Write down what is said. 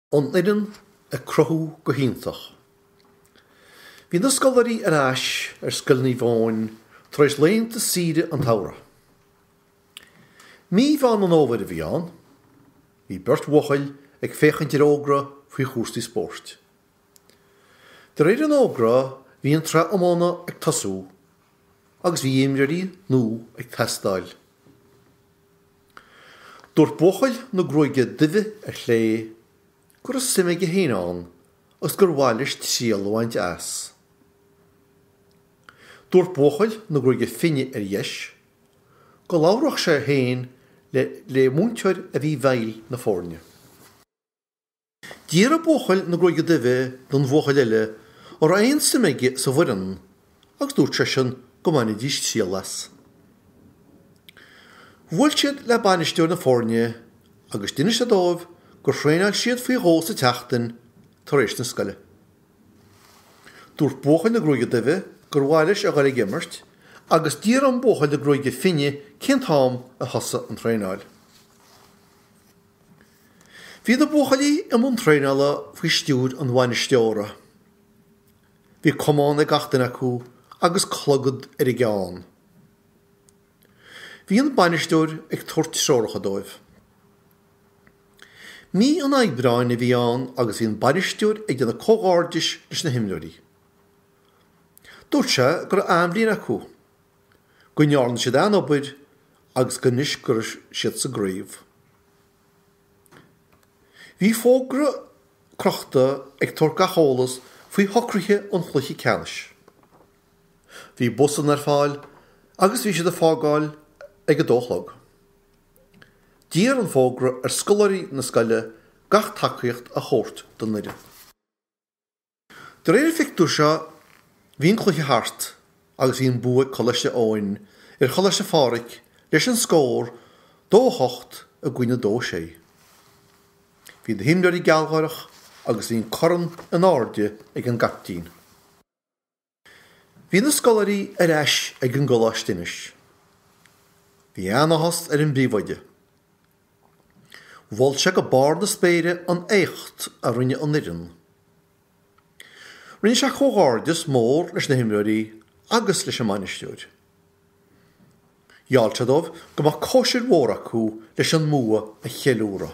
An fhoireann ag cruthú go hiontach. Bhí na scoláirí ar ais ar Scoil Naomh Eoin tar éis laethanta saoire an tsamhraidh. Mí Mheán an Fhómhair a bhí ann. Bhí beirt bhuachaill ag féachaint ar fhógra faoi chúrsaí spóirt. De réir an fhógra bhí an tsraith iomána ag tosú agus bhí imreoirí nua ag teastáil. Dúirt buachaill na gruaige duibhe ar chlé go raibh suim aige féin ann agus gur mhaith leis triail a bhaint as. Dúirt buachaill na gruaige finne ar dheis go labhródh sé féin le múinteoir a bhí i bhfeighil na foirne. D'fhiafraigh buachaill na gruaige duibhe den bhuachaill eile an raibh aon suim aige sa bhfoireann agus dúirt seisean go mbainfidís triail as. Bhuail siad le bainisteoir na foirne agus d'inis sé dóibh gur thraenáil siad faoi dhó sa tseachtain tar éis na scoile. Dúirt buachaill na gruaige duibhe gur mhaith leis a dhul ag imirt agus d'iarr an buachaill na gruaige finne cén t-am a thosaigh an traenáil. Bhí na buachaillí i mbun traenála faoi stiúir an bhainisteora. Bhí camán ag gach duine acu agus clogad ar a gceann. Bhí an bainisteoir ag tabhairt treoracha dóibh. Mí an Aibreáin a bhí ann agus bhí an bainisteoir ag déanamh comhghairdis leis na himreoirí. Dúirt sé go raibh an-bhliain acu, go ndearna siad an-obair agus go anois go raibh siad sa gcraobh. Bhí fógra crochta ag tabhairt gach eolas faoi shocruithe an chluiche ceannais. Bhí busanna ar fáil agus bhí siad ag fágáil ag a dó a chlog. D'iarr an fógra ar scoláirí na scoile gach tacaíocht a thabhairt don fhoireann. De réir an phictiúir seo, bhí an cluiche thart agus bhí an bua ag Coláiste Eoin ar Choláiste Phádraig leis an scór 2 8 i gcoinne 2 6. Bhí na himreoirí gealgháireach agus bhí an corn in airde ag an gcaiptín. Bhí na scoláirí ar ais ag an gcoláiste anois. Bhí an-áthas ar an bpríomhoide. Mhol sé go barr na spéire an éacht a rinne an fhoireann. Rinne sé comhghairdeas mór leis na himreoirí agus leis an mbainisteoir. Gheall sé dóibh go mbeadh cóisir mhór acu leis an mbua a cheiliúradh.